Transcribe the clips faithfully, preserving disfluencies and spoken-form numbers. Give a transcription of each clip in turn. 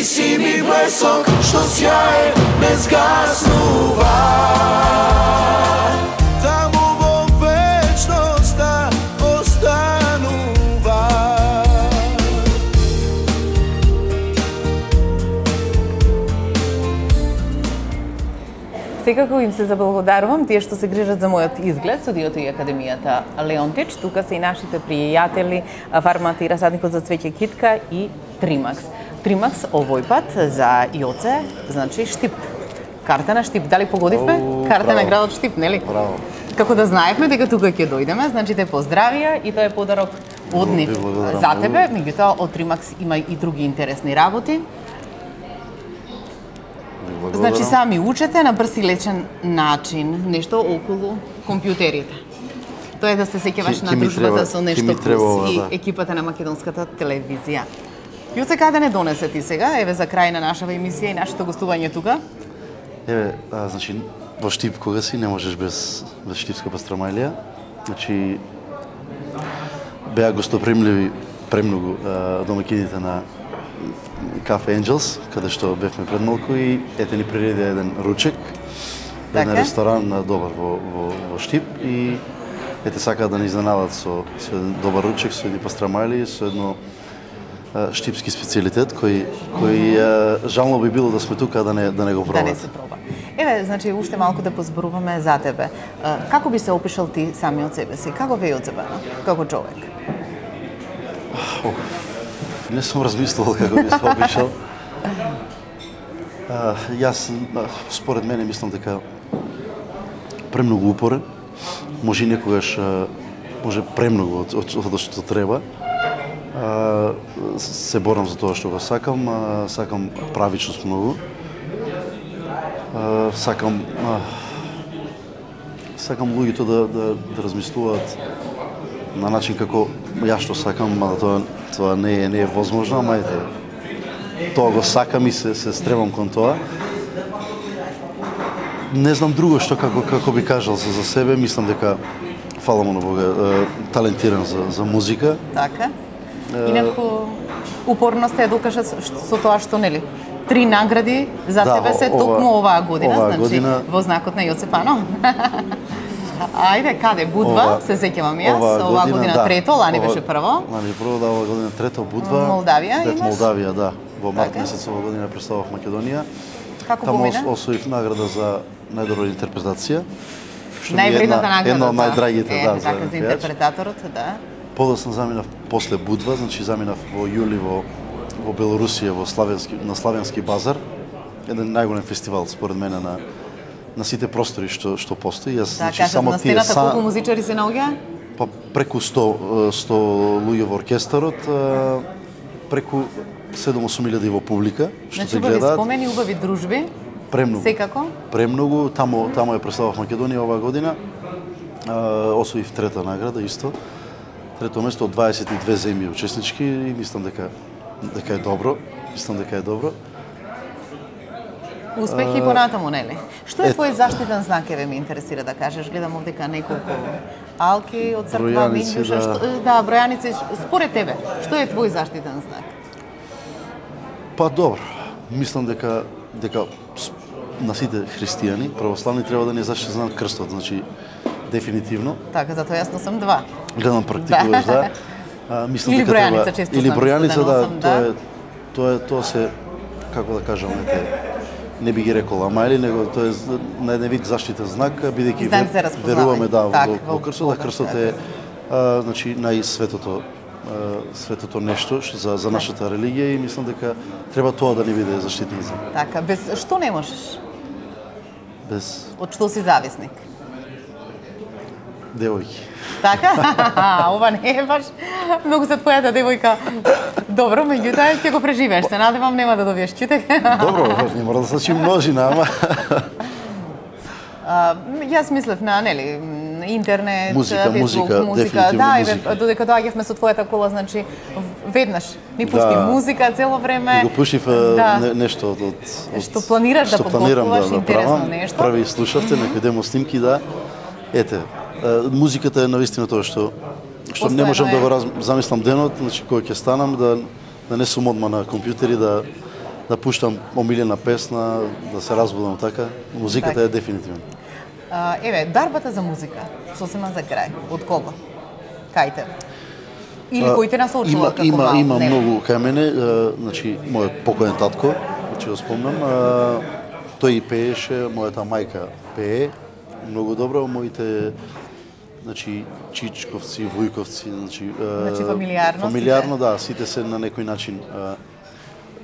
si mi blesok što sjaje ne zgasnuva. Tamo vo večnosta ostanuva. Секако им се заблагодарувам тие што се грижат за мојот изглед, студиото и Академијата Леонтич. Тука се и нашите пријатели Фармата и расадникот за цвеќе Китка и Тримакс. Тримакс овој пат за Јоце, значи Штип. Карта на Штип. Дали погодивме? О, Карта браво. на градот Штип, нели? Браво. Како да знаевме дека тука ќе дојдеме, значи те поздравија и тоа е подарок од нив Ви благодарам за многу. тебе. Меѓутоа од Тримакс има и други интересни работи. Значи сами учете на брз и лечен начин нешто околу компјутерите. Тоа е да се сеќаваш Ки- на ки ми дружбата треба- со ки нешто ми треба плюс ова, и да. екипата на македонската телевизија. Јуце, каде не донесе ти сега? Еве за крај на нашава емисија и нашето гостување тука. Еве, а, значи, во Штип кога си не можеш без, без штипска пастрамалија. Значи, беа гостопримливи премногу а, домакините на Cafe Angels, каде што бевме пред малку и ете ни приреди еден ручек, еден Така. ресторан на добар во, во, во Штип и ете сакаат да ни изненадат со, со еден добар ручек, со едни пастрамали, со едно а, штипски специјалитет кој кој а, жално би било да сме тука да не да не го Да пробат. не се проба. Еве, значи уште малку да позборуваме за тебе. А, Како би се опишал ти сами од себе си? Како ве од себе, како човек? Не сум размислувал како би се опишал. А, јас, а, според мене, мислам дека премногу упорен, може и некогаш а, може премногу од, од, од што треба. А, се борам за тоа што го сакам, а, сакам правичност многу. А, сакам а, сакам луѓето да, да, да размислуваат на начин како јас што сакам, мада тоа тоа не е не е возможно, ама ете тоа го сакам и се се стребам кон тоа. Не знам друго што како како би кажал за, за себе, мислам дека фала му на Бога, е, талентиран за за музика. Така. Инаку упорност е докажа со со тоа што нели три награди за Да, тебе се ова- токму оваа година, оваа значи година- во знакот на Јоце Пано. Ајде, каде? Будва, Ова- се сеќавам јас, оваа година, да, трето, лани ова- беше прво. Лани прво, да, оваа година трето, Будва. Молдавија Бев имаш? Молдавија, да. Во март Така. месец ова година представав Македонија. Како Таму помина? ос- освоив награда за најдобра интерпретација. Што ми е Највредната една, награда. една од за- најдрагите, е, да, за така за пејач. интерпретаторот, да. Подоцна заминав после Будва, значи заминав во јули во во Белорусија, во Славенски на Славенски базар. Еден најголем фестивал според мене на на сите простори што што постои. Јас Да, значи кажат само на тие стената са колку музичари се наоѓа? па преку сто сто луѓе во оркестарот, а, преку седум-осум илјади во публика што Значи се убави гледаат. спомени, убави дружби. Премногу. Секако. Премногу, таму таму ја представав Македонија оваа година. А, освоив трета награда исто. Трето место од дваесет и две земји учеснички и мислам дека дека е добро. Мислам дека е добро. Успех и понатаму, нели? Што е Ето. твој заштитен знак, еве ме интересира да кажеш. Гледам овдека неколку алки од црква, Бројаници, минјуша, да. што да, бројаници. Според тебе, што е твој заштитен знак? Па добро. Мислам дека дека с- на сите христијани, православни треба да ни заштити знак крстот, значи дефинитивно. Така, затоа јас носам два. Гледам практикуваш, да. А, мислам Или дека бројаница, треба- често Или знам бројаница, да да, носам, тоа да. е тоа е тоа се како да кажам, ете, не би ги рекол, ама или него тоа е з- на еден вид заштитен знак, бидејќи Знак вер- за распознавање. веруваме да Так, во, во во крстот, да Бога, крстот така. е а, значи најсветото а, светото нешто што за за нашата религија и мислам дека треба тоа да ни биде заштитен знак. Така, без што не можеш? Без Од што си зависник? девојки. Така? Ова не е баш многу за твојата девојка. Добро, меѓутоа ќе го преживееш. Се надевам нема да добиеш чутек. Добро, не мора да значи множина, ама А, јас мислев на, нели, м, интернет, Музика, Facebook, музика, музика. дефинитивно Да, музика. еве, додека доаѓавме со твојата кола, значи веднаш ни пусти Да. музика цело време. И го пушив Да. не, нешто од, од, од Што планираш да што планирам подготвуваш, интересно правам. нешто? Прави слушавте некој демо снимки, да. Ете, е, музиката е навистина тоа што што не Постојано можам е. да го раз, замислам денот, значи кој ќе станам да да не сум одма на компјутери, да да пуштам омилена песна, да се разбудам така. Музиката Так. е дефинитивно. А, еве, дарбата за музика, сосема за крај, од кого? Кај те? Или кој те насочува како има, мал? Има Не. многу кај мене, а, значи, мојот покоен татко, че го спомнам, а, тој и пееше, мојата мајка пее многу добро, моите значи чичковци, вујковци, значи, а, Значи, фамилиарно фамилиарно да, сите се на некој начин а,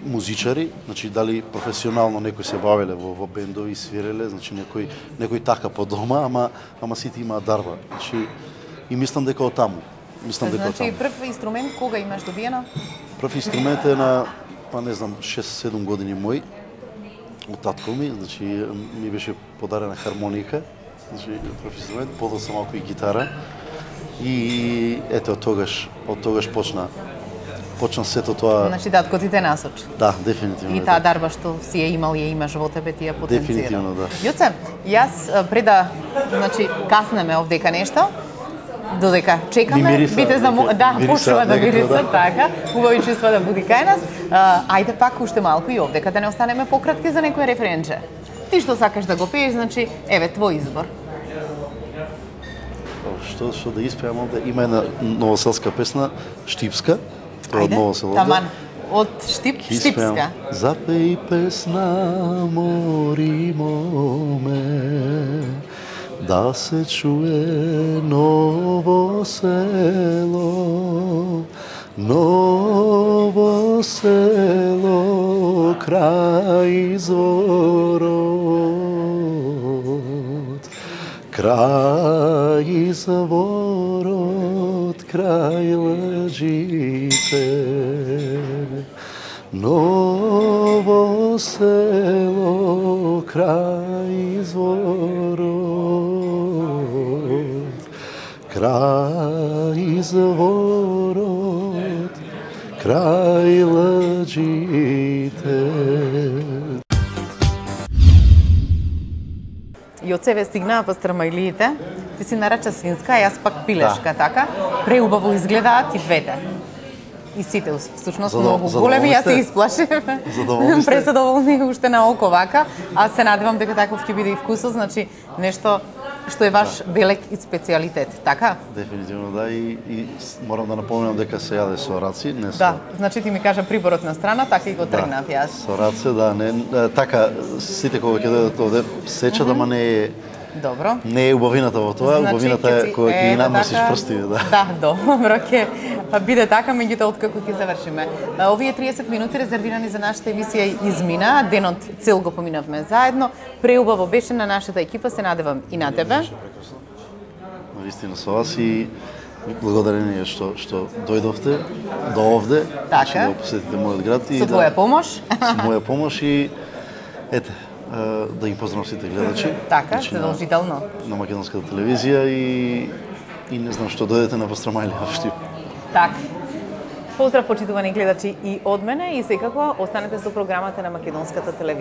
музичари, значи дали професионално некои се бавеле во, во бендови, свиреле, значи некој некој така по дома, ама ама сите имаат дарба. Значи и мислам дека од таму. Мислам дека од Значи, таму. прв инструмент кога имаш добиено? Прв инструмент е на, па не знам, шест-седум години мој, од татко ми, значи ми беше подарена хармоника, значи прв инструмент, подоцна малку и гитара. И ете од тогаш, од тогаш почна почна сето тоа. Значи, татко ти те насочи. Да, дефинитивно. И е таа така. дарба што си ја имал, ја имаш во тебе, ти ја потенцира. Дефинитивно, да. Јоце, јас а, пред да, значи, каснеме овдека нешто, додека чекаме, Ми мириса, бите за нека- да, мириса, почнува да некако, мириса, да. така, убави чувства да буди кај нас. А, ајде пак уште малку и овдека да не останеме пократки за некој рефренче. Ти што сакаш да го пееш, значи, еве, твој избор. Што што да испеам овде, има една новоселска песна, Штипска, тоа од Ајде, Ново село. таман, од Штип, Штипска. Запеј песна, мори моме, да се чуе Ново село, Ново село, крај изворот, крај изворот, крај лъжите. Ново село, крај изворот, крај изворот, крај лъжите. И од себе стигнаа пастрамајлиите, ти си нарача свинска, а јас пак пилешка, така? Преубаво изгледаат и двете. И сите, всушност, Задов- многу задоволни големи, јас се сте? исплашив. Задоволни сте? Пресадоволни уште на око вака, а се надевам дека таков ќе биде и вкусот, значи нешто што е ваш белек и специјалитет, така? Дефинитивно да, и, и с- морам да напомнам дека се јаде со раци, не со... Да, значи ти ми кажа приборот на страна, така и го тргнав јас. Со раце, да, не, е, така, сите кога ќе дојдат овде, сечат, ама не е, Добро. не е убавината во тоа, убавината ќе е си- кога ќе ги ето намносиш така. прстиве, да. Да, добро, ќе биде така, меѓутоа откако ќе завршиме. А, Овие триесет минути резервирани за нашата емисија измина, денот цел го поминавме заедно. Преубаво беше на нашата екипа, се надевам и на тебе. Навистина со вас и благодарение што што дојдовте до овде, Така. што да посетите мојот град и Со твоја помош. со моја помош и ете, е, да ги поздравам сите гледачи. Така, значи, на- задолжително. на македонската телевизија и и не знам што дојдете на Пастрамајлија во Штип. Така. Поздрав, почитувани гледачи и од мене и секако останете со програмата на македонската телевизија.